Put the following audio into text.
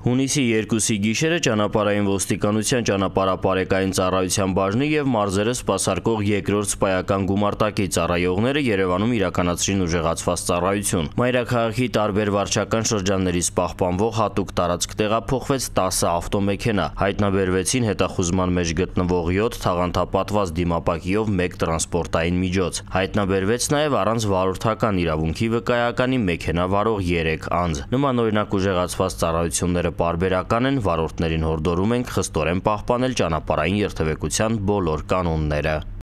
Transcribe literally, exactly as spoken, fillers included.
Հունիսի երկուսի գիշերը ճանապարհային ոստիկանության ճանապարհապարեկային ծառայության բաժնի և մարզերը սպասարկող երկրորդ սպայական գումարտակի ծառայողները Երևանում իրականացրին ուժեղացված ծառայություն։ Մայրաքաղաքի տարբեր վարչական շրջաններից պահպանվող հատուկ տարածք տեղափոխվեց տասը ավտոմեքենա, հայտնաբերվեցին հետախուզման մեջ գտնվող յոթ թաղանթապատված դիմապակիով մեկ տրանսպորտային միջոց։ Հայտնաբերվեց նաև առանց վարորդական իրավունքի վկայականի մեքենա վարող երեք անձ։ Նմանօրինակ ուժեղացված ծառայությունները պարբերական են, վարորդներին հորդորում ենք խստորեն պահպանել ճանապարհային երթևեկության բոլոր կանոնները։